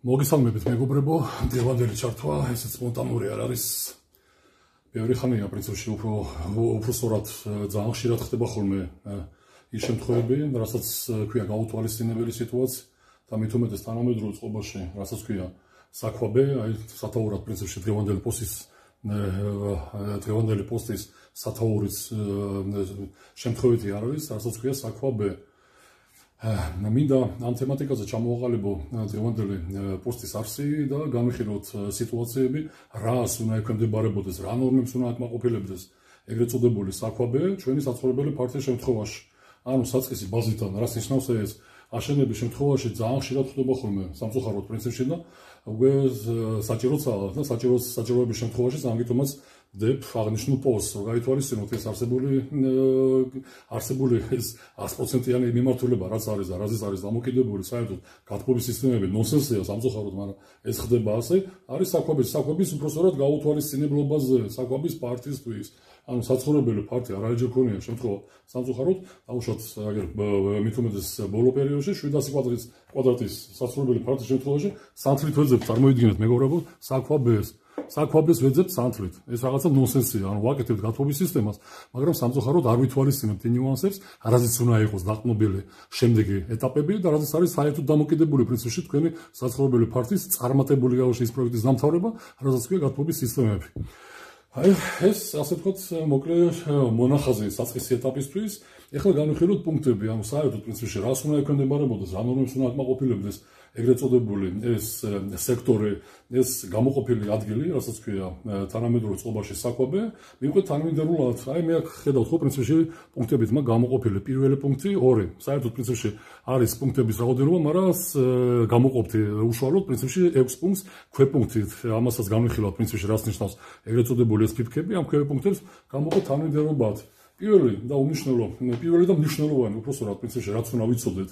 მოგესალმებით მეგობრებო, დღევანდელი ჩართვა ესეც სპონტანური არ არის. ბევრი ხანია პრინციპში უფრო სწორად ძალიან ხშირად ხდება ხოლმე ის შემთხვევები, რასაც ქვია გაუთვალისწინებელი სიტუაცია და მით უმეტეს თანამედროვე წყობაში, რასაც ქვია საქვაბე, აი სათაურად პრინციპში დღევანდელი პოსტის სათაურის შემთხვევითი არ არის, რასაც ქვია საქვაბე. მინდა ამ თემატიკაზე ჩამოვაყალიბო დღევანდელი პოსტის არსი და განვიხილოთ სიტუაციები, რას უნდა ექვემდებარებოდეს, რა ნორმებს უნდა აკმაყოფილებდეს ეგრეთ წოდებული საქვაბე ჩვენი საცხოვრებელი ფართის შემთხვევაში. ანუ საწყისი ბაზიდან რას ნიშნავს ეს? აშენების შემთხვევაში ძალიან ხშირად ხდება ხოლმე სამწუხაროდ პრინციპში და უკვე საჭიროა და საჭიროების შემთხვევაში ამიტომაც დებ აღნიშნულ პოსტს რომ გაითვალისწინოთ ეს არსებული ეს 100%-იანი მიმართულება რაც არის და რაზეც არის დამოკიდებული საერთოდ გათბობის სისტემები ნონსენსია სამწუხაროდ, მაგრამ ეს ხდება ასე, არის საქვაბის უпростоრად გაუთვალისწინებლობაზე, საქვაბის ფართისთვის. ანუ საცხოვრებელი ფართი არაერთხელ ქონია შემთხვევა სამწუხაროდ, დაუშვათ მით უმეტეს ბოლო პერიოდში 700 კვადრატის საცხოვრებელი ფართის შემთხვევაში სანთლით ვეძებთ, წარმოიდგინეთ მეგობრებო, საქვაბეს ვეძებთ სანთლით. ეს რაღაცა ნონსენსია, ანუ ვაკეთებთ გათბობის სისტემას, მაგრამ სამწუხაროდ არ ვითვალისწინებთ ნიუანსებს, რაზეც უნდა იყოს დაყრდნობილი შემდეგი ეტაპები და რაზეც არის საერთოდ დამოკიდებული პრინციპში თქვენი საცხოვრებელი ფართის წარმატებული გაუშვების პროექტის დამთავრება, რაზეც ქვია გათბობის სისტემები. აი ეს ასე ვთქვათ მოკლე მონახაზი საწყისი ეტაპისთვის. ეხლა განვიხილოთ პუნქტები, ანუ საერთოდ პრინციპში რას უნდა ექვემდებარებოდეს, რა ნორმებს უნდა აკმაყოფილებდეს ეგრეთ წოდებული ეს სექტორი, ეს გამოყოფილი ადგილი, რასაც ქვია თანამედროვე წყობაში საქვაბე, მივყვეთ თანმიმდევრულად. აი მე აქ ხედავთ ხო პრინციპში პუნქტებით მაგ გამოყოფილი პირველი პუნქტი 2. საერთოდ პრინციპში არის პუნქტების რაოდენობა, მაგრამ გამოყოფთი უშუალოდ პრინციპში 6 პუნქტს ქვეპუნქტით. ამასაც განვიხილავთ პრინციპში რას ნიშნავს ეგრეთ წოდებული ეს ფიფქები, ამ ქვეპუნქტებს გამოყოფ თანმიმდევრულად. პირველი და მნიშვნელოვანი უпростоრად პრინციპში რაც უნდა ვიცოდეთ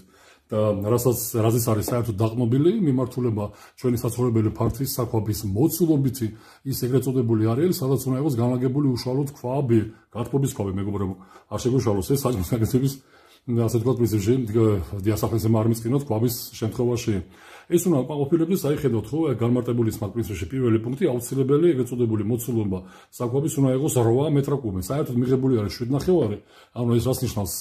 და რაზეც არის საერთოდ დაყრდნობილი მიმართულება ჩვენი საცხოვრებელი ფართის საქვაბის მოცულობითი ის ეგრეთ წოდებული არეალი, სადაც უნდა იყოს განლაგებული უშუალოდ ქვაბი, გათბობის ქვაბი, მეგობრებო. არ შეგვეშალოს ეს საქმის ასე ვთქვათ პრინციპში დიასახლისზე არ მისკინოთ ქვაბის შემთხვევაში. ეს უნდა აკმაყოფილებდეს, აი ხედავთ ხო, განმარტებული ის მაგ პრინციპში პირველი პუნქტი აუცილებელი ეგრეთ წოდებული მოცულობა საქვაბის უნდა იყოს 8 მეტრ-კუბი. საერთოდ მიღებული არის 7.5, ანუ ეს რას ნიშნავს?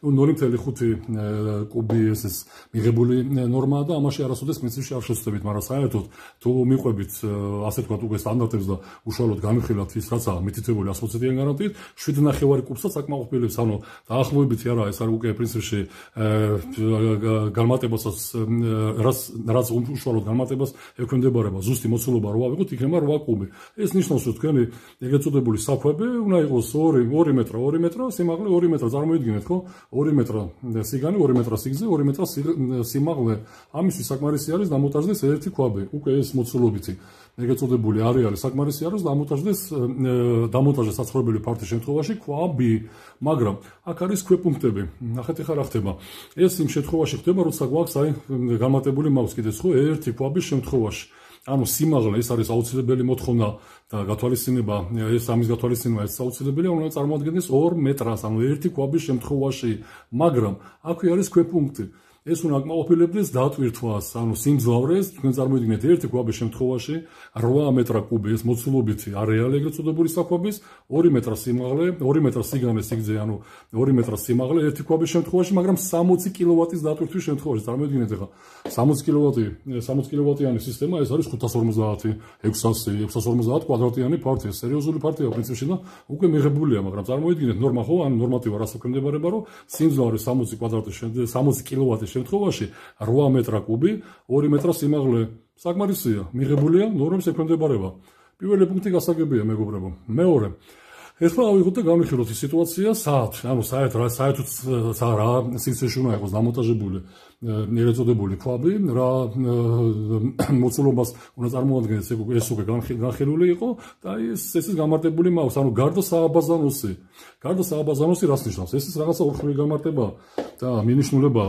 0.5 კუბი ეს მიღებული ნორმაა და ამაში არასოდეს პრინციპში არ შევწდებით, მაგრამ საერთოდ თუ მიყვებით ასე ვთქვათ უკვე სტანდარტებს და უშუალოდ განვიხილავთ ის რაცა მითითებული 100%-იანი გარანტიით 7.5 კუბსაც აკმაყოფილებს, ანუ დაახლოებითი არა, ეს არის უკვე პრინციპში განმარტებასაც რაც უშუალოდ განმარტებას ექვემდებარება ზუსტი მოცულობა 8 ვიყოთ, იქნება 8 კუბი. ეს ნიშნავს რომ თქვენი ეგრეთ წოდებული საქვაბე უნდა იყოს 2 მეტრ, სიმაღლე 2 მეტრ, წარმოიდგინეთ ხო? 2 მეტრ სიგანი, 2 მეტრ სიგრძე, 2 მეტრ სიმაღლე. ამისთვის საკმარისი არის დამონტაჟდეს ერთი ქვაბი, უკვე ეს მოცულობითი ეგრეთ წოდებული არეალი საკმარისი არის დამონტაჟდეს საცხოვრებელი ფართის შემთხვევაში ქვაბი, მაგრამ აქ არის ქვეპუნქტები. ნახეთ ახლა რა ხდება. ეს იმ შემთხვევაში ხდება, როცა გვაქვს აი განმარტებული მაქვს კიდეც ხო ერთი ქვაბის შემთხვევაში. ანუ სიმაღლე ეს არის აუცილებელი მოთხოვნა და გათვალისწინება, ეს ამის გათვალისწინება ეს აუცილებელი, უნდა წარმოადგენდეს 2 მეტრას, ანუ ერთი ქვაბის შემთხვევაში, მაგრამ აქვე არის ქვეპუნქტი. ეს უნდა აკმაყოფილებდეს დატვირთვას, ანუ სიმძლავრეს, თქვენ წარმოიდგინეთ ერთი ქვაბის შემთხვევაში 8 მეტრ-კუბი ეს მოცულობითი არეალი ეგრეთ წოდებული საქვაბის, 2 მეტრ სიმაღლე, 2 მეტრ სიგანე სიგრძე, ანუ 2 მეტრ სიმაღლე ერთი ქვაბის შემთხვევაში, მაგრამ 60 კილოვატის დატვირთვის შემთხვევაში. წარმოიდგინეთ ახლა 60 კილოვატიანი სისტემა, ეს არის 550, 650 კვადრატიანი ფართი, სერიოზული ფართია პრინციპში და უკვე მიღებულია, მაგრამ წარმოიდგინეთ ნორმა ხო, ანუ ნორმატივა რას ექვემდებარება, რომ სიმძლავრე 60 კილოვატის შემთხვევაში 8 მეტრ-კუბი, 2 მეტრ სიმაღლე საკმარისია, მიღებულია, ნორმებს ექვემდებარება. პირველი პუნქტი გასაგებია, მეგობრებო. მეორე, ეხლა ავიღოთ და განვიხილოთ ის სიტუაცია, ანუ საერთოდ რა სივრცეში უნდა იყოს დამონტაჟებული ეგრეთ წოდებული ქვაბი, რა მოცულობას უნდა წარმოადგენდეს ეს უკვე განხილული იყო და ეს ის გამარტებული მაქვს, ანუ გარდა სააბაზანოსი რას ნიშნავს? ეს რაღაცა ორხმიანი გამარტება და მინიშნულება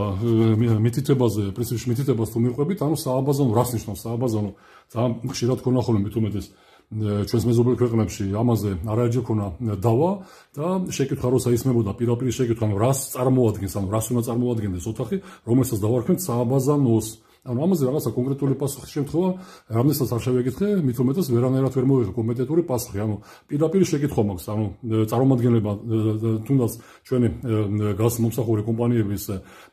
მითითებაზე, პრინციპში მითითებას თუ მიყვებით, ანუ სააბაზანო რას ნიშნავს? სააბაზანო ძალიან ხშირად ქონა ხოლმე მით უმეტეს ჩვენს მეზობელ ქვეყნებში ამაზე არაერთხელ ქონა დავა და შეკითხვა როცა ისმებოდა პირდაპირ შეკითხვა, რას წარმოადგენს, ანუ რას უნდა წარმოადგენდეს ოთახი, რომელსაც დავარქმევთ სააბაზანოს. ანუ ამაზე რაღაცა კონკრეტული პასუხის შემთხვევა რამდენსაც არ შევეკითხე, მით უმეტეს ვერანაირად ვერ მოვიღე კომპეტენტური პასუხი. ანუ პირდაპირ შეკითხვა მაქვს, ანუ წარმომადგენლება თუნდაც ჩვენი გაზ მომსახურე კომპანიების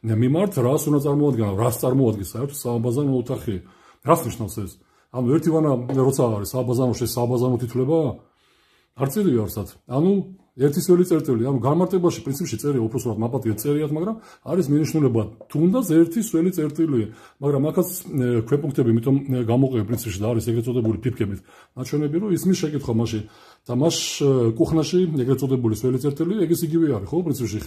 მიმართ, რას უნდა წარმოადგენს, რას წარმოადგენს საერთოდ საბაზანო ოთახი. რას ნიშნავს ეს? ანუ ერთი ვანა როცა არის საბაზანოში საბაზანო თითვლება არ წერია არსად. ანუ ერთი სველი წერტილი, ანუ გამარტებაში პრინციპში წერია უბრალოდ მაპატია წერიათ, მაგრამ არის მენიშნულება თუნდაც ერთი სველი წერტილი, მაგრამ აქაც ქვეპუნქტები, იმიტომ გამოყენებ პრინციპში და არის ეგრეთ წოდებული ფიფკებით ნაჩვენები, რომ ისმის შეკითხვა მაშინ და მას კუხნაში ეგრეთ წოდებული სველი წერტილი, ეგეც იგივე არის, ხო, პრინციპში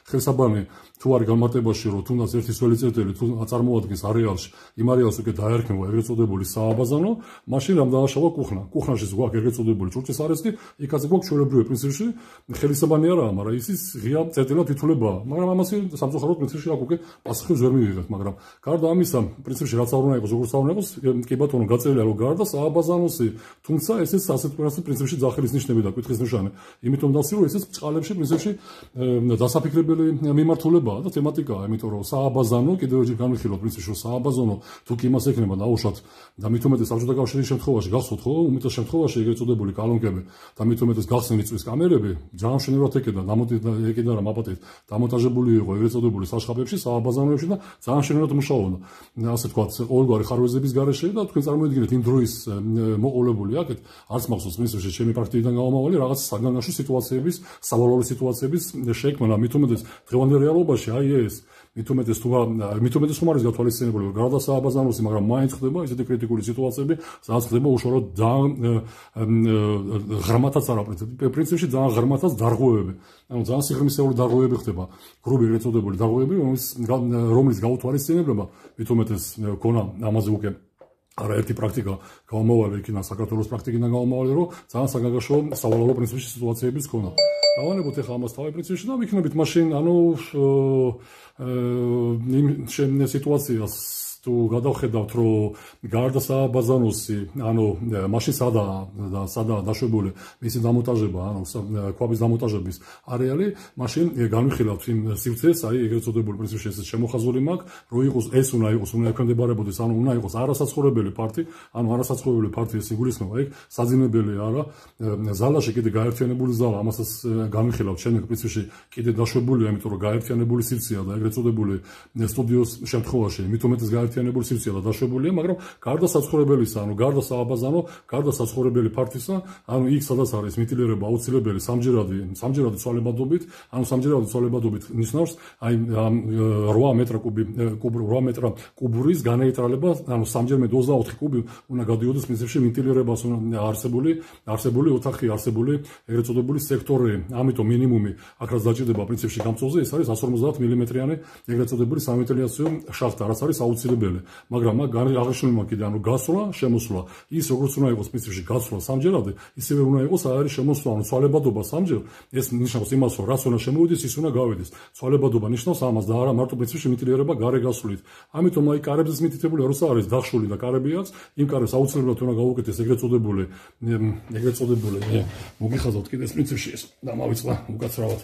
ხელსაბანი თუ არის გამარტებაში, რომ თუნდაც ერთი სველი წერტილი თუ წარმოადგენს არეალში, იმ არეალს უკვე დაერქმევა ეგრეთ წოდებული სააბაზანო, მაშინ რამ დააშავა კუხნა. კუხნაშიც გვაქვს ეგრეთ წოდებული ჭურჭის არესტი, იქაც გვაქვს ჩვეულებრივი პრინციპში ხელისაბანი არაა, მაგრამ ისიც ღია წერტილად ითვლებაა. მაგრამ ამასი სამწუხაროდ პრინციპში აქ უკვე პასუხი ვერ მივიღეთ, მაგრამ გარდა ამისა, პრინციპში რაც არ უნდა იყოს, როგორც არ უნდა იყოს, კი ბატონო გაწერილია, რომ გარდა სააბაზანოსი, თუმცა ესეც ასეთ პრინციპში ძახილის ნიშნები და კუთხის ნიშანი. იმიტომ დავსი რომ ესეც წყალებში პრინციპში დასაფიქრებელი მიმართულებაა და თემატიკაა, იმიტომ რომ სააბაზანო კიდევ ერთი განვიხილოთ პრინციპში, რომ სააბაზანო თუ კი იმას ექნება დაუშვათ და მით უმეტეს საბჭოთა კავშირის შემთხვევაში გახსოვთ ხო, უმეტეს შემთხვევაში ეგრეთ წოდებული კალონკები და მით უმეტეს გახსნილი წვის კამერები ძალიან მშვენივრად ეკიდა რა მაპატეთ დამონტაჟებული იყო ეგრეთ წოდებული საშხაპებში, სააბაზანოებში და ძალიან მშვენივრად მუშაობდა. ასე ვთქვათ, ყოველგვარი ხარვეზების გარეშე და თქვენ წარმოიდგინეთ იმ დროის მოყოლებული აქეთ, არც მახსოვს პრინციპში ჩემი პრაქტიკიდან გამომავალი რაღაც საგანგაშო სიტუაციების, სავალალო სიტუაციების შექმნა, მით უმეტეს დღევანდელ რეალობაში აი ეს მით უმეტეს თუ ხომ არის გათვალისწინებული რომ გარდა სააბაზანოსი, მაგრამ მაინც ხდება ესეთი კრიტიკული სიტუაციები, სადაც ხდება უშუალოდ ღრმათაც არა პრინციპში ძალიან ღრმათაც დარღვევები. ანუ ძალიან სიღრმისეული დარღვევები ხდება, გრუპი ეგრეთ წოდებული დარღვევები, რომლის გაუთვალისწინებლება მით უმეტეს ქონა ამაზე უკვე არაერთი პრაქტიკა გამომავალი იქიდან საქართველოს პრაქტიკიდან გამომავალი, რომ ძალიან საგანგაშო სავალალო პრინციპში სიტუაციების ქონა. დავანებოთ ახლა ამას თავი პრინციპში და ვიქნებით მაშინ, ანუ იმ სიტუაციას თუ გადავხედავთ, რომ გარდა სააბაზანოსი, ანუ მაშინ სადაა დაშვებული მისი დამონტაჟება, ანუ ქვაბის დამონტაჟების არეალი, მაშინ განვიხილავთ იმ სივრცეს, აი ეგრეთ წოდებული პრინციპში ეს შემოხაზული მაქვს, რომ იყოს ეს უნდა ექვემდებარებოდეს, ანუ უნდა იყოს არასაცხოვრებელი პარტი, ანუ არასაცხოვრებელი პარტი ეს იგულისხმება, ეგ საძინებელი არა, ზალაში კიდე გაერთიანებული ზალა, ამასაც განვიხილავთ შემდეგ პრინციპში კიდე დაშვებულია, იმიტომ რომ გაერთიანებული სივრცეა და ეგრეთ წოდებული სტუდიოს შემთხვევაში, მით უმეტეს გაერთიანებული სივრცეა და დაშვებულია, მაგრამ გარდა საცხოვრებელისა, ანუ გარდა სააბაზანო, გარდა საცხოვრებელი პარტისა, ანუ იქ სადაც არის მიტილირება აუცილებელი სამჯერადი ცვალებადობით, ანუ სამჯერადი ცვალებადობით ნიშნავს აი 8 მეტრა კუბურის განეიტრალება, ანუ სამჯერ 24 კუბი უნდა გადიოდეს პრინციპში მიტილირებას არსებული ოთახი, არსებული ეგრეთ წოდებული სექტორი, ამიტომ მინიმუმი აქ რაც დაჭირდება პრინციპში გამწოლზე, ეს არის 150 მმ-იანი ეგრეთ წოდებული სამვენტილიაციო შახტა, რაც არის აუცილებელი. მაგრამ მაგ აღნიშნული მაქვს კიდე, ანუ გასვლა, შემოსვლა, ის როგორც უნდა იყოს პრინციპში გასვლა სამჯერადი, ისევე უნდა იყოს არის შემოსვლა, ანუ ცვალებადობა სამჯერ, ეს ნიშნავს იმას, რომ რაც უნდა შემოვიდეს, ის უნდა გავიდეს. ცვალებადობა ნიშნავს ამას და არა მარტო პრინციპში მიტილირება გარე გასვლით. ამიტომ აი კარებზეც მითითებული, როცა არის დახშული და კარებიაც, იმ კარებს აუცილებლად უნდა გავუკეთდეს ეგრეთ წოდებული მოგიხაზავთ კიდე ეს პრინციპში ეს დამავიწყდა უკაცრავად.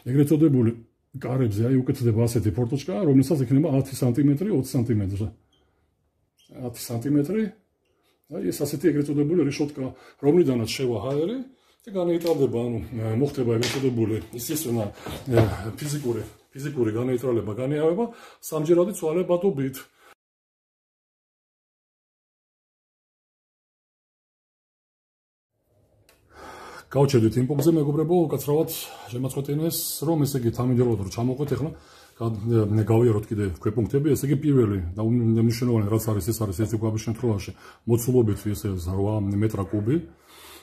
ეგრეთ წოდებული კარებზე აი უკეთდება ასეთი ფორტოჩკა, რომელსაც იქნება 10 სანტიმეტრი 20 სანტიმეტრზე. 10 სანტიმეტრი. აი ეს ასეთი ეგრეთ წოდებული რიშოტკა, რომლიდანაც შევა ჰაერი და განეიტრალდება, ანუ მოხდება ეგრეთ წოდებული ის უნდა ფიზიკური განეიტრალება, განეავება სამჯერადი ცვალებადობით. გავჩერდით იმ პუნქტზე, მეგობრებო, უკაცრავად შემაწყვეტინეს, რომ ესე იგი თანმიმდევრულად რომ ჩამოვყვეთ ახლა გავიაროთ კიდე ქვეპუნქტები, ესე იგი პირველი და მნიშვნელოვანი რაც არის, ეს არის ერთი ქვაბის შემთხვევაში მოცულობით ესე 8 მეტრა კუბი.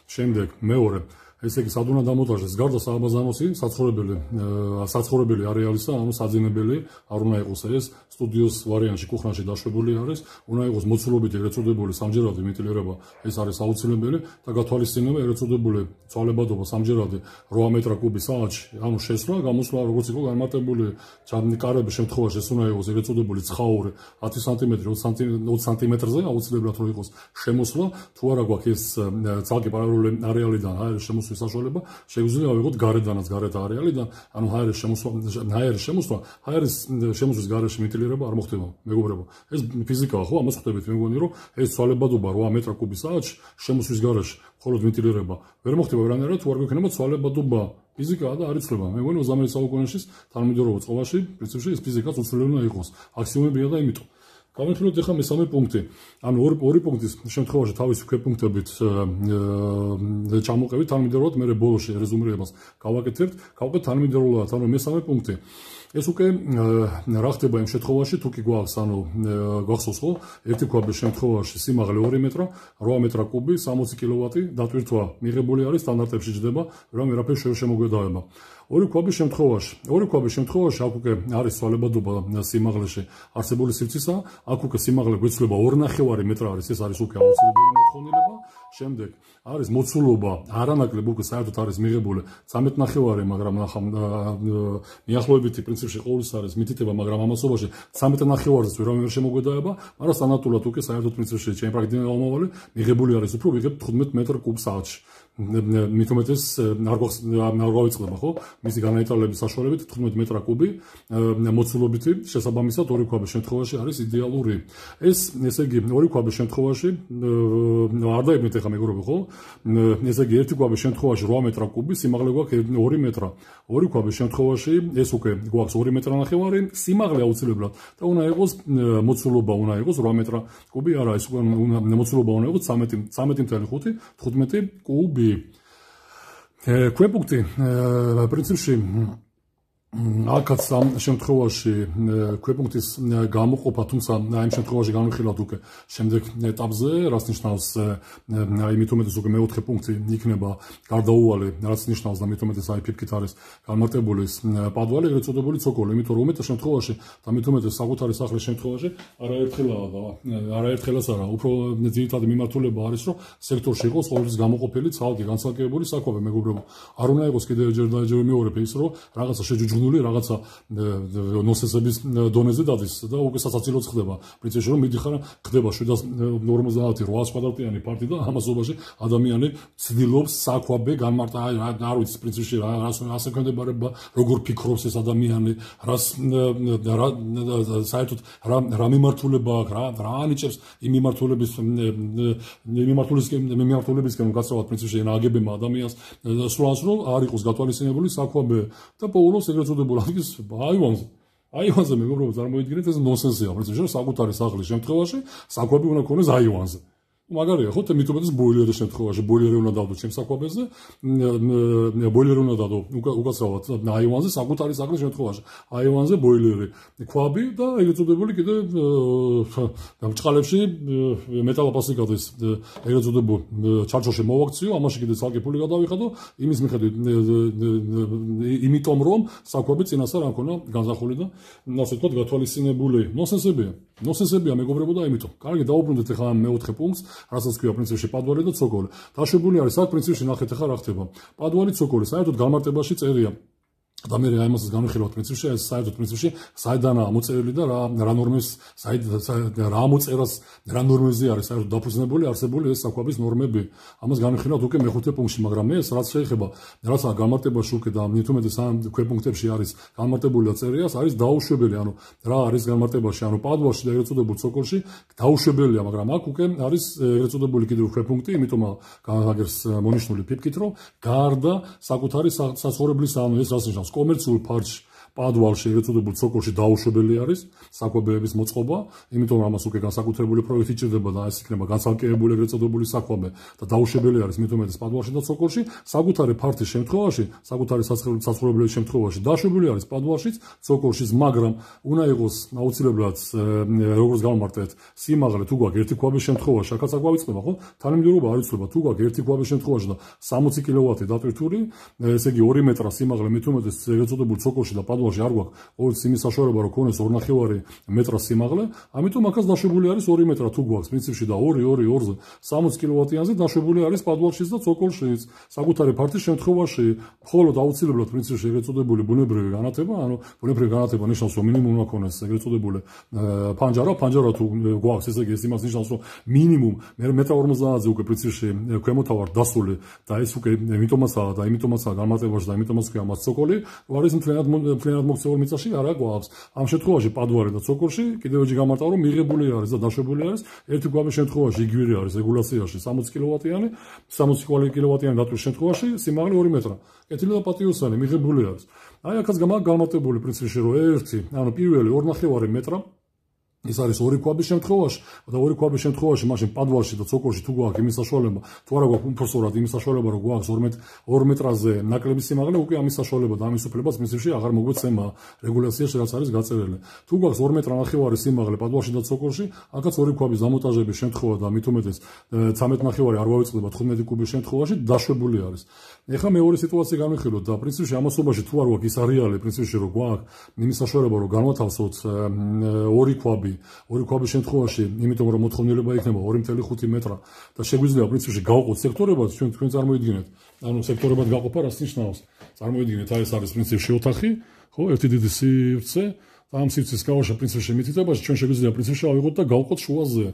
შემდეგ მეორე ესე იგი სად უნდა დამონტაჟდეს გარდა სააბაზანოსი საცხოვრებელი არეალისა, ანუ საძინებელი არ უნდა იყოს ეს სტუდიოს ვარიანტში კუხნაში დაშვებული არის, უნდა იყოს მოცულობით ეგრეთ წოდებული სამჯერადი მიტილირება, ეს არის აუცილებელი და გათვალისწინება ეგრეთ წოდებული ცვალებადობა სამჯერადი 8 მეტრა კუბი საათში, ანუ შესვლა, გამოსვლა, როგორც იყო განმარტებული კარების შემთხვევაში, ეს უნდა იყოს ეგრეთ წოდებული ცხაური 10 სანტიმეტრი 20 სანტიმეტრზე, აუცილებლად რომ იყოს შემოსვლა, თუ არა გვაქვს ეს ცალკე პარალელური არეალიდან არის შემოსვლის საშუალება შეგვიძლია ავიღოთ გარედანაც გარეთ არეალიდან, ანუ ჰაერის შემოსვა, ჰაერის შემოსვის გარეშე ვენტილირება არ მოხდება, მეგობრებო. ეს ფიზიკაა, ხო? ამას ხვდებით, მე მგონი, რომ ეს ცვალებადობა 8 მეტრ-კუბ/საათში შემოსვის გარეშე მხოლოდ ვენტილირება ვერ მოხდება ვერანაირად, თუ არ გვექნება ცვალებადობა. ფიზიკაა და არ იცვლება. მე მგონი 19 საუკუნეში თანამედროვე წყობაში, პრინციპში ეს ფიზიკაც უცვლელი უნდა იყოს. აქსიომებია და იმიტომ. გავიხილოთ ახლა მესამე პუნქტი. ანუ ორი პუნქტის შემთხვევაში თავისი ქვეპუნქტებით ჩამოყევით თანამედროვედ, მე ბოლოში რეზუმირებას გავაკეთებთ. გავყეთ თანამედროვედ, ანუ მესამე პუნქტი. ეს უკვე რა ხდება იმ შემთხვევაში, თუ კი გვაქვს, ანუ გახსოვს ხო, ერთი ქვაბის შემთხვევაში სიმაღლე 2 მეტრა, 8 მეტრ-კუბი, 60 კილოვატი დატვირთვა მიღებული არის, სტანდარტებში ჯდება, რომ ვერაფერი შემოგვედავება. ორი ქვაბის შემთხვევაში აქ უკვე არის ცვალებადობა სიმაღლეში არსებული სივრცისა, აქ უკვე სიმაღლე გვეცვლება 2.5 მეტრ არის, ეს არის უკვე აუცილებელი მოთხოვნილება. შემდეგ არის მოცულობა, არანაკლებ უკვე საერთოდ არის მიღებული 13.5, მაგრამ მიახლოებითი პრინციპში ყოველთვის არის მითითება, მაგრამ ამასობაში 13.5-ზეც ვერავინ ვერ შემოგვედავება, მაგრამ სტანდარტულად უკვე საერთოდ პრინციპში ჩემი პრაქტიკიდან გამომავალი მიღებული არის უფრო ვიღებ 15 მეტრ-კუბ/საათში. მით უმეტეს არ გავიწყდება, ხო? მისი განაიტალების საშუალებით 15 მეტრ-კუბი მოცულობითი შესაბამისად ორი ქვაბის შემთხვევაში არის იდეალური. ესე იგი, ორი ქვაბის შემთხვევაში არ დაიბნეთ ახლა მეგობრებო, ხო? ესე იგი, ერთი ქვაბის შემთხვევაში 8 მეტრ-კუბი, სიმაღლე გვაქვს 2 მეტრა. ორი ქვაბის შემთხვევაში ეს უკვე გვაქვს 2 მეტრ-ნახევარი, სიმაღლე აუცილებლად და უნდა იყოს მოცულობა უნდა იყოს 8 მეტრ-კუბი, არა, ეს უკვე მოცულობა უნდა იყოს 13.5 15 კუბი. ქვეპუნქტი პრინციპში აქაც ამ შემთხვევაში ქვეპუნქტის გამოყოფა, თუმცა ამ შემთხვევაში განვიხილავთ უკვე შემდეგ ეტაპზე, რაც ნიშნავს აი მით უმეტეს უკვე მეოთხე პუნქტი იქნება გარდაუვალი, რაც ნიშნავს და მით უმეტეს აი ფიფკით არის განმარტებული პადვალი, ეგრეთ წოდებული ცოკოლი, იმიტომ რომ უმეტეს შემთხვევაში და მით უმეტეს საკუთარი სახლის შემთხვევაში არაერთხელაც არა, უფრო ძირითადი მიმართულება არის, რომ სექტორში იყოს ყოველთვის გამოყოფილი ცალკე განცალკევებული საკვები, მეგობრებო. არ უნდა იყოს კიდევ ჯერ და ჯერ მეორებ ის, რომ რაღაცა შეჯუჯუნებული რაღაცა ნონსენსების დონეზე დადის და უკვე სასაცილოც ხდება. პრინციპში რომ მიდიხარ ხდება 750-800 კვადრატიანი პარტი და ამასობაში ადამიანი ცდილობს საკვაბე განმარტა, არ ვიცი პრინციპში რას ექვემდებარება, როგორ ფიქრობს ეს ადამიანი, საერთოდ რა მიმართულება აქვს, რა ანიჭებს იმ მიმართულებისკენ გასწავლად პრინციპში ნაგებმა ადამიანს, სულაც რომ არ იყოს გათვალისწინებული საკვაბე და პოულობს ეგრეთ წოდებულ ადგილს აივანზე მეგობრებო, წარმოიდგინეთ, ეს ნონსენსია პრინციპში, რომ საკუთარი სახლის შემთხვევაში საკვები უნდა ქონდეს აივანზე. მაგარია, ხო, მით უმეტეს ბოილერის შემთხვევაში, ბოილერი უნდა დავდო ჩემს საკვებაზე, ბოილერი უნდა დავდო უკაცრავად აივანზე, საკუთარი სახლის შემთხვევაში, აივანზე ბოილერი, ქვაბი და ეგრეთ წოდებული კიდე ბრჭყალებში მეტალოპლასტიკადის ეგრეთ წოდებულ ჩარჩოში მოვაქციო, ამაში კიდე ცალკე ფული გადავიხადო, იმის მიხედვით, იმიტომ რომ საკვები წინასწარ არ მქონდა განზახული და ასე ვთქვათ, გათვალისწინებული. ნონსენსებია მეგობრებო და იმიტომ. კარგი, დაუბრუნდეთ ახლა მეოთხე პუნქტს. რასაც ქვია პრინციპში პადვალი და ცოკოლი. დაშვებული არის აქ პრინციპში ნახეთ ახლა რა ხდება. პადვალი, ცოკოლი საერთოდ განმარტებაში წერია. და მე ამასაც განვიხილავთ პრინციპში, ეს საერთოდ პრინციპში საიდანაა მოწერილი და რა ნორმის რა მოწერას რა ნორმებზე არის საერთოდ დაფუძნებული არსებული ეს საკვების ნორმები. ამას განვიხილავთ უკვე მეხუთე პუნქტში, მაგრამ ეს რაც შეეხება რაცა განმარტებაში უკვე და მით უმეტეს ამ ქვეპუნქტებში არის განმარტებული და წერიას არის დაუშვებელი, ანუ რა არის განმარტებაში, ანუ პადვაში და ეგრეთ წოდებულ ცოკოლში დაუშვებელია, მაგრამ აქ უკვე არის ეგრეთ წოდებული კიდევ ქვეპუნქტი, იმიტომ განაგერს მონიშნული ფიფკით, რომ გარდა საკუთარი საცხოვრებლის, ანუ ეს რაც ნიშნავს კომერციულ ფარჩში პადვალში ეგრეთ წოდებულ ცოკოლში დაუშვებელი არის საკვებების მოწყობა, იმიტომ რომ ამას უკვე განსაკუთრებული პროექტი ჭირდება და ეს იქნება განცალკევებული ეგრეთ წოდებული საკვები და დაუშვებელი არის მით უმეტეს პადვალში და ცოკოლში, საკუთარი ფარჩის შემთხვევაში, საკუთარი საცხოვრებლების შემთხვევაში დაშვებული არის პადვალშიც, ცოკოლშიც, მაგრამ უნდა იყოს აუცილებლად როგორც გავმარტეთ, სიმაღლე თუ გვაქვს ერთი ქვაბის შემთხვევაში, აქაც აგვაიწყება, ხო? თანამედროვეობა არ იცვლება, თუ გვაქვს ერთი ქვაბის შემთხვევაში და 60 კილოვატი დატვირთული, ესე იგი 2 მეტრა სიმაღლე მით უმეტეს ეგრეთ წოდებულ ცოკოლში და პადვარში არ გვაქვს ყოველთვის იმის საშუალება რომ ქონდეს 2.5 მეტრა სიმაღლე, ამიტომ აქაც დაშვებული არის 2 მეტრა თუ გვაქვს პრინციპში და 2-2-2-ზე 60 კილოვატიანზე დაშვებული არის პადვარშიც და ცოკოლშიც. საკუთარი ფართის შემთხვევაში მხოლოდ აუცილებლად პრინციპში ეგრეთ წოდებული ბუნებრივი განათება, ანუ ბუნებრივი განათება ნიშნავს რომ მინიმუმ უნდა ქონდეს ეგრეთ წოდებული ფანჯარა თუ გვაქვს, ესე იგი ეს იმას ნიშნავს რომ მინიმუმ 1.50-ზე უკვე პრინციპში ქვემოთა ვარ დასული და ეს უკვე იმიტომაცაა განმარტებაში და იმიტომაც ქვია მას ცოკოლი, არის მთლიანად მოქცეულ მიწაში არა გვაქვს. ამ შემთხვევაში პადვარი და ცოკოლში კიდევ ერთი გამარტავა რომ მიღებული არის და დაშვებული არის ერთი გვამის შემთხვევაში იგივე არის რეგულაციაში 60 კილოვატიანი, 60 კილოვატიანი დატვირთვის შემთხვევაში სიმაღლე 2 მეტრა. კეთილი და პატიოსანი მიღებული არის. აი აქაც განმარტებული პრინციპში რომ პირველი 2.5 მეტრა ის არის 2 ქვაბის შემთხვევაში და 2 ქვაბის შემთხვევაში მაშინ პადვარში და ცოკოლში თუ გვაქვს იმის საშუალება, თუ არა გვაქვს უმფროსორად იმის საშუალება რომ გვაქვს 2 მეტრაზე ნაკლები სიმაღლე, უკვე ამის საშუალება და ამის უფლებას პრინციპში აღარ მოგვეცემა რეგულაციაში რაც არის გაწერილი. თუ გვაქვს 2 მეტრა ნახევარი სიმაღლე პადვარში და ცოკოლში, აქაც 2 ქვაბის დამონტაჟების შემთხვევა და მით უმეტეს 13 ნახევარი არ ვავიწყდება 15 კუბის შემთხვევაში დაშვებული არის. ეხლა მეორე სიტუაცია განვიხილოთ და პრინციპში ამასობაში თუ არ გვაქვს ის არეალი პრინციპში რომ გვაქვს იმის საშუალება რომ განვათავსოთ 2 ქვაბი 2 ქვაბის შემთხვევაში, იმიტომ რომ მოთხოვნილება იქნება 2.5 მეტრა და შეგვიძლია პრინციპში გავყოთ სექტორებად, თქვენ წარმოიდგინეთ. ანუ სექტორებად გაყოფა რას ნიშნავს? წარმოიდგინეთ, ეს არის პრინციპში ოთახი, ხო, ერთი დიდი სივრცე და ამ სივრცის კავშირში პრინციპში მითითებაში ჩვენ შეგვიძლია პრინციპში ავიღოთ და გავყოთ შუაზე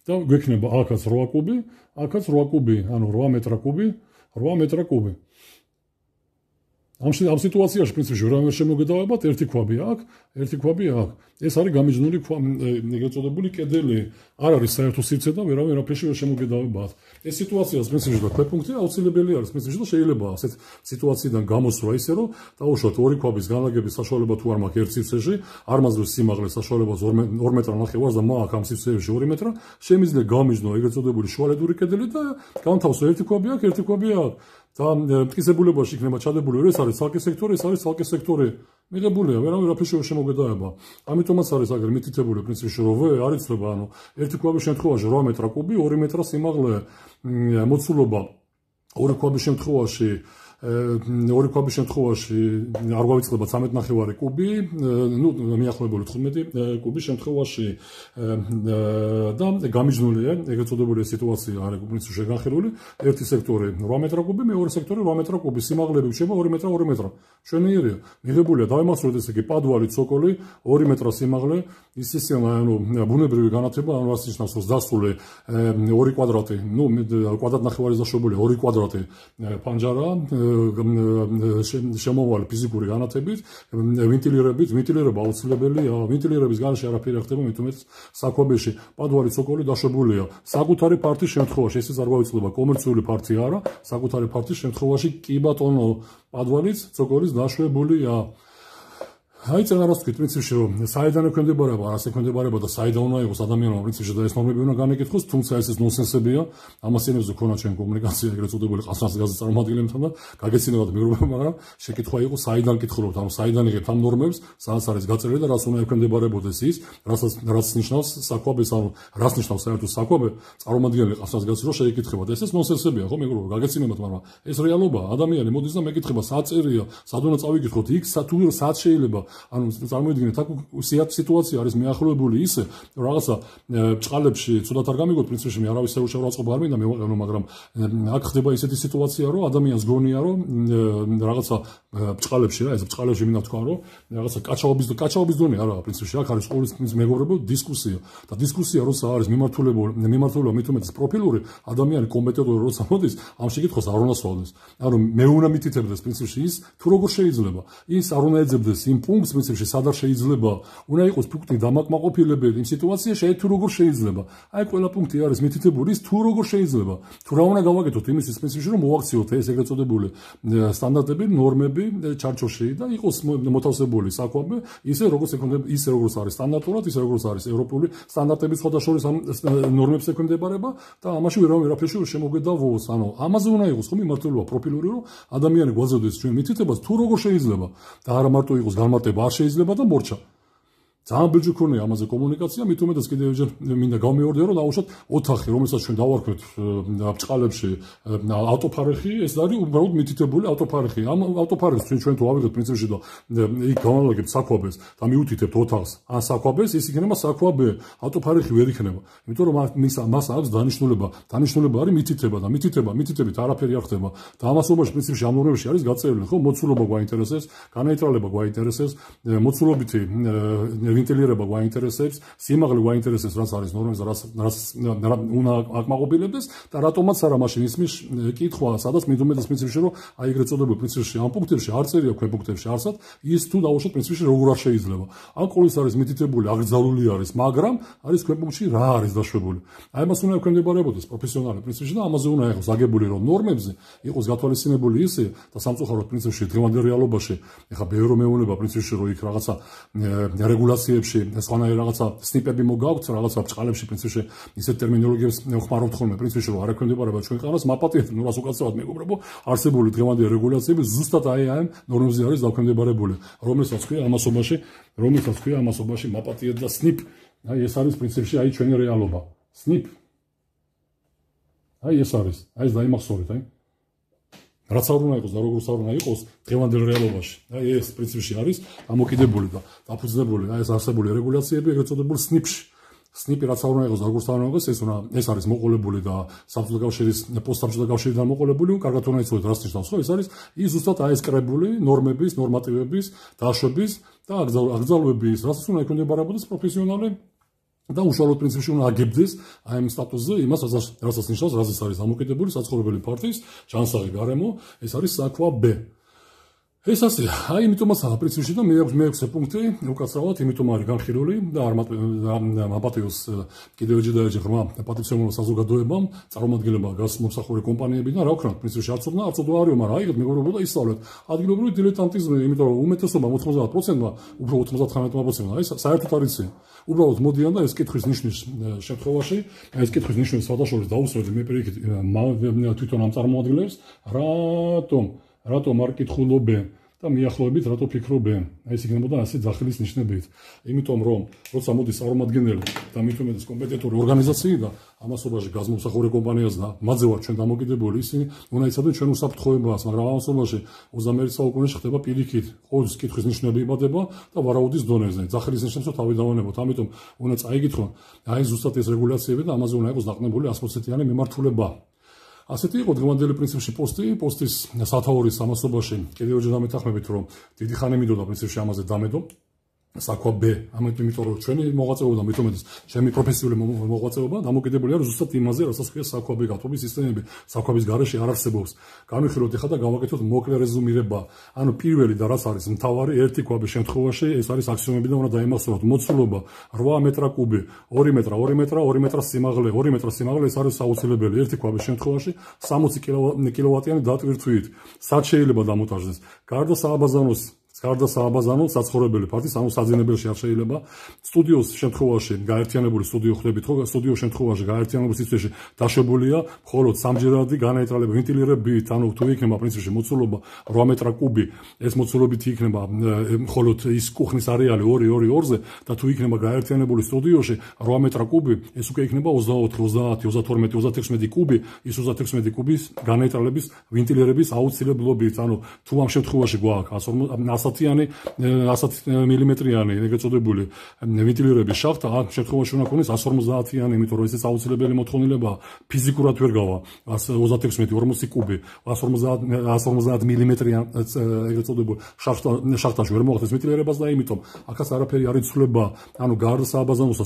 და გვექნება აქაც 8 კუბი, აქაც 8 კუბი, ანუ 8 მეტრა კუბი, 8 მეტრა კუბი. ამ სიტუაციაში პრინციპში ვერ შემოგედავებათ ერთი ქვაბი აქ, ერთი ქვაბი აქ. ეს არის გამიჯნული ეგრეთ წოდებული კედელი. არ არის საერთო სივრცე და ვერაფერში ვერ შემოგედავებათ. ეს სიტუაციას პრინციპში და ქვეპუნქტი აუცილებელი არის პრინციპში და შეიძლება ასეთ სიტუაციიდან გამოსვლა ისე რომ დაუშვათ 2 ქვაბის განლაგების საშუალება თუ არ მაქვს ერთ სივრცეში, არ მაძლევს სიმაღლეს საშუალებას 2 მეტრა ნახევარს და მაქვს ამ სივრცეში 2 მეტრა, შემიძლია გამიჯნო ეგრეთ წოდებული შუალედური კედელი და განთავსო ერთი ქვაბი აქ, ერთი ქვაბი აქ. და მტკიცებულებაში იქნება ჩადებული რომ ეს არის ცალკე სექტორი, ეს არის ცალკე სექტორი. მიღებულია, ვერაფერში ვერ შემოგედავება. ამიტომაც არის აგერ მითითებული პრინციპში რომ არ იცვლება, ანუ ერთი ქვაბის შემთხვევაში 8 მეტრა კუბი, 2 მეტრა სიმაღლე, მოცულობა 2 ქვაბის შემთხვევაში 2 ქვაბის შემთხვევაში არ გავიწყდება 13.5 კუბი, ნუ მიახლოებული 15 კუბის შემთხვევაში და გამიჯნულია ეგრეთ წოდებული სიტუაცია არის პრინციპში განხილული, ერთი სექტორი 8 მეტრა კუბი, მეორე სექტორი 8 მეტრა კუბი, სიმაღლეები რჩება 2 მეტრა 2 მეტრა. ჩვენიერია, მიღებულია დავემასწროთ ესე იგი პადვარი, ცოკოლი 2 მეტრა სიმაღლე, ის ანუ ბუნებრივი განათება, ანუ რას ნიშნავს რომ დასული 2 კვადრატი, ნუ კვადრატ ნახევარის დაშვებული 2 კვადრატი ფანჯარა შემოვალი ფიზიკური განათებით, ვენტილირება აუცილებელია, ვენტილირების გარეშე არაფერი არ ხდება, მით უმეტეს საქვაბეში პადვარი ცოკოლი დაშვებულია. საკუთარი ფართის შემთხვევაში, ესეც არ გავიწყდება კომერციული ფართი არა, საკუთარი ფართის შემთხვევაში კი ბატონო, პადვარიც ცოკოლის დაშვებულია. აი წერა რას თქვით პრინციპში რომ საიდან ექვემდებარება, არას ექვემდებარება და საიდან უნდა იყოს ადამიანმა პრინციპში და ეს ნორმები უნდა განეკითხოს, თუმცა ეს ნონსენსებია. ამას ენებზე ქონა ჩვენ კომუნიკაცია ეგრეთ წოდებული ყასრასგაზის წარმომადგენლებთან და გაგეცინებათ მიღრუბება, მაგრამ შეკითხვა იყო საიდან კითხულობთ, ანუ საიდან იღებთ ამ ნორმებს, სადაც არის გაწერილი და რას უნდა ექვემდებარებოდეს ის, რაც ნიშნავს საქვაბეს, ანუ რას ნიშნავს საერთოდ საქვაბე, წარმომადგენელი ყასრასგაზის რო შეიკითხებათ. ეს ნონსენსებია, ხო მიღრუბება, გაგეცინებათ, მაგრამ ეს რეალობაა. ადამიანი მოდის და მეკითხება, სად წერია, სად უნდა წავიკითხოთ, იქ თუ სად შეიძლება ანუ წარმოიდგინეთ აქ სიტუაცია არის მიახლოებული ისე რომ რაღაცა ბჭყალებში ცუდად არ გამიგოთ პრინციპში მე არავის შეურაცხყოფა არ მინდა მევაყენო მაგრამ აქ ხდება ისეთი სიტუაცია რომ ადამიანს გონია რომ რაღაცა ბჭყალებში რა ეს ბჭყალებში მინდა თქვა რომ რაღაცა კაჩაობის დონე არა პრინციპში აქ არის ყოველთვის მეგობრებო დისკუსია და დისკუსია როცა არის მიმართულება მით უმეტეს პროფილური ადამიანი კომპეტენტური როცა მოდის ამ შეკითხვას არ უნდა სვავდეს ანუ მე უნდა მითითებდეს პრინციპში ის თუ როგორ შეიძლება ის არ უნდა ეძებდეს იმ პუნქტს პრინციპში სად არ შეიძლება უნდა იყოს პუნქტი დამაკმაყოფილებელი იმ სიტუაციაში თუ როგორ შეიძლება აი ყველა პუნქტი არის მითითებული ის თუ როგორ შეიძლება თუ რა უნდა გავაკეთოთ იმის პრინციპში რომ მოვაქციოთ ეს ეგრეთ წოდებული სტანდარტები ნორმები ჩარჩოში და იყოს მოთავსებული საკვები ისე როგორც არის სტანდარტულად ისე როგორც არის ევროპული სტანდარტების სხვადასხვა ნორმებს ექვემდებარება და ამაში ვერაფერში ვერ შემოგედავოს ანუ ამაზე უნდა იყოს ხომ მიმართულება პროფილური რომ ადამიანი გვაძლევდეს ჩვენ მითითებას თუ როგორ შეიძლება და არა მარტო იყოს განმარტება არ შეიძლება და მორჩა ძალიან ბიჭი ქონია ამაზე კომუნიკაცია, მით უმეტეს კიდევ ჯერ მინდა გამეორდე რომ დავუშვათ ოთახი, რომელსაც ჩვენ დავარქვეთ ბჭყალებში ავტოფარეხი, ეს არის უბრალოდ მითითებული ავტოფარეხი. ამ ავტოფარეხს ჩვენ თუ ავიღეთ პრინციპში და იქ გავალაგებთ საქვაბეს და მიუთითებთ ოთახს ან საქვაბეს, ის იქნება საქვაბე, ავტოფარეხი ვერ იქნება. იმიტომ რომ მას აქვს დანიშნულება არის მითითება და მითითებით არაფერი არ ხდება. და ამასობაში პრინციპში ამ ნორმებში არის გაწერილი, ხო, მოცულობა გვაინტერესებს, განაიტრალება გვაინტერესებს, მოცულობითი ვენტილირება გვაინტერესებს, სიმაღლე გვაინტერესებს, რაც არის ნორმებზე, რაც უნდა აკმაყოფილებდეს და რატომაც არა მაშინ ისმის კითხვა, სადაც მიდუმეტეს პრინციპში რომ აი ეგრეთ წოდებულ პრინციპში ამ პუნქტებში არ წერია ქვემ პუნქტებში არსად, ის თუ დავუშვათ პრინციპში როგორ არ შეიძლება. ამ ყოველს არის მითითებული, აკრძალული არის, მაგრამ არის ქვემ პუნქტში რა არის დაშვებული. აი მას უნდა ექვემდებარებოდეს პროფესიონალი პრინციპში და ამაზე უნდა იყოს აგებული რომ ნორმებზე იყოს გათვალისწინებული ისე და სამწუხაროდ პრინციპში დღევანდელ რეალობაში ეხა ბევრი მეუნება პრინციპში რომ იქ რაღაცა რეგულაციებში სხვანაირი რაღაცა სნიპები მოგაქვთ რაღაცა ბჭყალებში პრინციპში ისეთ ტერმინოლოგიებს ხმარობთ ხოლმე პრინციპში რომ არ ექვემდებარება ჩვენ ყანას მაპატიეთ ნუ რას უკაცრავად მეგობრებო არსებული დღევანდელი რეგულაციები ზუსტად აი ამ ნორმებზე არის დაქვემდებარებული რომელსაც ქვია ამასობაში მაპატიეთ და სნიპ აი ეს არის პრინციპში აი ჩვენი რეალობა სნიპ აი ეს არის აი ეს დაიმახსოვრეთ აი რაც არ უნდა იყოს და როგორც არ უნდა იყოს დღევანდელ რეალობაში. აი ეს პრინციპში არის დამოკიდებული და დაფუძნებული აი ეს არსებული რეგულაციები ეგრეთ წოდებულ სნიპში. სნიპი რაც არ უნდა იყოს და როგორც არ უნდა იყოს ეს არის მოყოლებული და საბჭოთა კავშირის პოსტსაბჭოთა კავშირიდან მოყოლებული, კარგად უნდა იცოდეთ რას ნიშნავს, ხო? ეს არის ის ზუსტად აი ეს კრებული ნორმების, ნორმატივების, დაშვების და აკრძალვების, რაც უნდა ექვემდებარებოდეს პროფესიონალი და უშუალოდ პრინციპში უნდა აგებდეს აი ამ სტატუსზე იმას, რასაც ნიშნავს, რაზეც არის დამოკიდებული საცხოვრებელი ფართის ჯანსაღი გარემო, ეს არის საკვა B. ეს ასე, აი იმიტომაც პრინციპში და მე-6 პუნქტი უკაცრავად, იმიტომ არის განხილული და არ მაპატიოს კიდევ ეჯდა ღრმა პატივცემულო საზოგადოებამ წარმომადგენლობა გასმომსახურე კომპანიებიდან, რა ვქნათ, პრინციპში არც ოდნა არიო, მაგრამ აიღეთ მეგობრებო და ისწავლეთ. ადგილობრივი დილეტანტიზმი, იმიტომ რომ უმეტესობა 90%-მა, უფრო 99%-მა, აი საერთოდ არ იციან. უბრალოდ მოდიან და ეს კითხვის ნიშნის შემთხვევაში, ეს კითხვის ნიშნის სხვადასხვა დაუსვათ მე პირიქით თვითონ ამ წარმომადგენლებს, რატომ არ კითხულობენ და მიახლოებით რატო ფიქრობენ. აი ეს იქნებოდა ასე ძახილის ნიშნებით. იმიტომ რომ როცა მოდის წარმომადგენელი და მით უმეტეს კომპეტენტური ორგანიზაციიდან ამასობაში გაზმომსახურე კომპანიას და მათზე ვარ ჩვენ დამოკიდებული ისინი უნდა იცოდნენ ჩვენ უსაფრთხოებას, მაგრამ ამასობაში 21 საუკუნეში ხდება პირიქით ყოველთვის კითხვის ნიშნები იბადება და ვარაუდის დონეზე. ძახილის ნიშნებს თავი დავანებოთ. ამიტომ უნდა წაიგითხონ აი ზუსტად ეს რეგულაციები და ამაზე უნდა იყოს დაყნებული 100%-იანი მიმართულება. ასეთი იყო დღევანდელი პრინციპში პოსტის სათაურის ამასობაში კიდევ ჯერ დამეთანხმებით რომ დიდი ხანი მინდოდა პრინციპში ამაზე დამედო საკვა B ამიტომ რომ ჩვენი მოღვაწეობა და მithumetes ჩემი პროფესიული მოღვაწეობა დამოკიდებულია ზუსტად იმაზე რასაც ქვია საკვა B გათობის სისტემები საკვების გარეშე არ არსებობს განვიხილოთ ეხლა და გავაკეთოთ მოკლე რეზუმირება ანუ პირველი და რაც არის მთავარი ერთი კვების შემთხვევაში ეს არის აქსიომები და უნდა დაიმახსოვროთ მოცულობა 8 მეტრ-კუბი 2 მეტრ სიმაღლე 2 მეტრ სიმაღლე ეს არის აუცილებელი ერთი კვების შემთხვევაში 60 კილოვატიანი დატვირთვით სად შეიძლება დამონტაჟდეს გარდა სააბაზანო საცხოვრებელი ფართის, ანუ საძინებელში არ შეიძლება. სტუდიოს შემთხვევაში გაერთიანებული სტუდიო ხდებით, ხო? სტუდიოს შემთხვევაში გაერთიანებული სივრცეში დაშვებულია მხოლოდ სამჯერადი განაიტრალება ვენტილირებით, ანუ თუ იქნება პრინციპში მოცულობა 8 მეტრ-კუბი, ეს მოცულობითი იქნება მხოლოდ ის კუხნის არეალი 2-2-2-ზე და თუ იქნება გაერთიანებული სტუდიოში 8 მეტრ-კუბი, ეს უკვე იქნება 24, 30, 32, 36 კუბი, ის 36 კუბის განაიტრალების ვენტილირების აუცილებლობით, ანუ თუ ამ შემთხვევაში გვაქვს 100 მილიმეტრიანი ეგრეთ წოდებული ვენტილირების შახტა ამ შემთხვევაში უნდა ქონდეს 150-იანი, იმიტომ რომ ესეც აუცილებელი მოთხოვნილებაა. ფიზიკურად ვერ გავა 136-40 კუბი 150 მილიმეტრიან ეგრეთ წოდებულ შახტაში ვერ მოხდეს ვენტილირებას და იმიტომ აქაც არაფერი არ იცვლება. ანუ გარდა სააბაზანოსა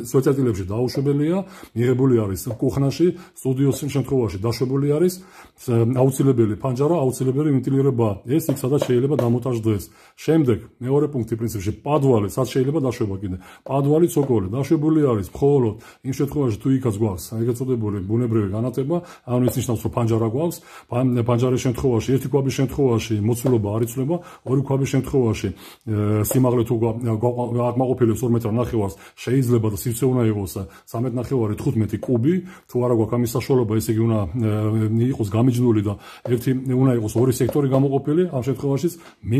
სვეტწილებში დაუშვებელია, მიღებული არის კუხნაში, სტუდიოს შემთხვევაში დაშვებული არის აუცილებელი ფანჯარა, აუცილებელი ვენტილირება. ეს იქ სადაც შეიძლება დამონტაჟდეს. შემდეგ მეორე პუნქტი პრინციპში პადვალი სად შეიძლება დაშვება კიდე. პადვალი ცოკოლი დაშვებული არის მხოლოდ იმ შემთხვევაში თუ იქაც გვაქვს ეგრეთ წოდებული ბუნებრივი განათება, ანუ ის ნიშნავს რომ ფანჯარა გვაქვს, ფანჯარის შემთხვევაში ერთი კვების შემთხვევაში მოცულობა არ იცვლება, ორი კვების შემთხვევაში სიმაღლე თუ აკმაყოფილებს 2 მეტრ-ნახევარს შეიძლება და სივრცე უნდა იყოს 13.5 კუბი, თუ არა გვაქვს ამის საშუალება, ესე იგი უნდა იყოს გამიჯნული და ერთი უნდა იყოს ორი სექტორი გამოყოფილი, ამ შემთხვევაშიც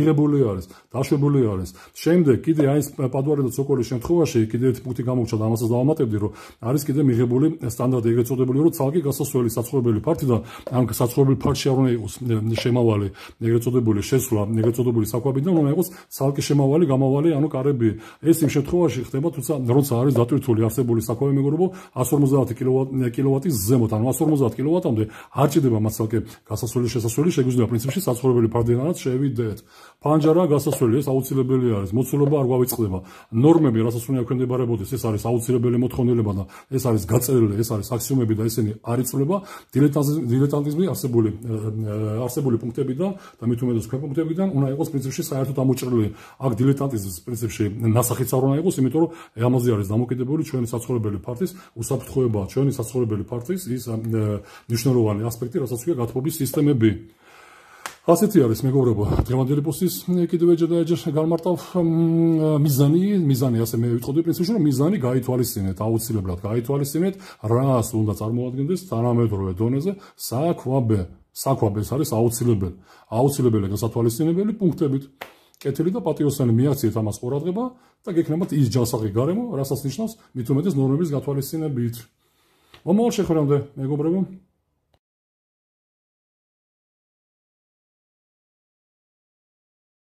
მიღებული არის, დაშვებული არის. შემდეგ კიდე აი ეს პადუარი და ცოკოლის შემთხვევაში კიდე ერთი პუნქტი გამოგჩა და ამასაც დავამატებდი, რომ არის კიდე მიღებული სტანდარტი ეგრეთ წოდებული, რომ ცალკე გასასვლელი საცხოვრებელი ფართიდან ან საცხოვრებელი ფართში არ უნდა იყოს შემავალი, ეგრეთ წოდებული შესვლა, ეგრეთ წოდებული საკვებიდან უნდა იყოს ცალკე შემავალი, გამავალი, ანუ კარები. ეს იმ შემთხვევაში ხდება, თუმცა როცა არის დატვირთული არსებული საკვები მეგობრებო 150 კილოვატის ზემოთ, ანუ 150 კილოვატამდე არ ჭირდება მას ცალკე გასასვლელი შესასვლელი, შეგვიძლია პრინციპში საცხოვრებელი ფარდიდანაც შევიდეთ. ფანჯარა გასასვლელი ეს აუცილებელი არის, მოცულობა არ გვავიწყდება. ნორმები, რასაც უნდა ექვემდებარებოდეს, ეს არის აუცილებელი მოთხოვნილება და ეს არის გაწერილი, ეს არის აქსიომები და ესენი არ იცვლება. დილეტანტიზმი არსებული პუნქტებიდან და მით უმეტეს ქვეპუნქტებიდან უნდა იყოს პრინციპში საერთოდ ამოჭრილი. აქ დილეტანტიზმის პრინციპში ნასახიც არ უნდა იყოს, იმიტომ რომ ამაზე არის დამოკიდებული ჩვენი საცხოვრებელი ფარდის უსაფრთხოება, ჩვენი საცხოვრებელი ფარდის ის მნიშვნელოვანი ასპექტი, რასაც ქვია გათბობის სისტემები. ასეთი არის მეგობრებო დღევანდელი პოსტის კიდევ ეჯერ გამარტავ მიზანი ასე მე ვიტყოდი პრინციპში რომ მიზანი გაითვალისწინეთ აუცილებლად გაითვალისწინეთ რას უნდა წარმოადგენდეს თანამედროვე დონეზე საკვები ეს არის აუცილებელი გასათვალისწინებელი პუნქტებით კეთილი და პატიოსანი მიაქციეთ ამას ყურადღება და გექნებათ ის ჯანსაღი გარემო რასაც ნიშნავს მით უმეტეს ნორმების გათვალისწინებით მომავალ შეხვედრამდე მეგობრებო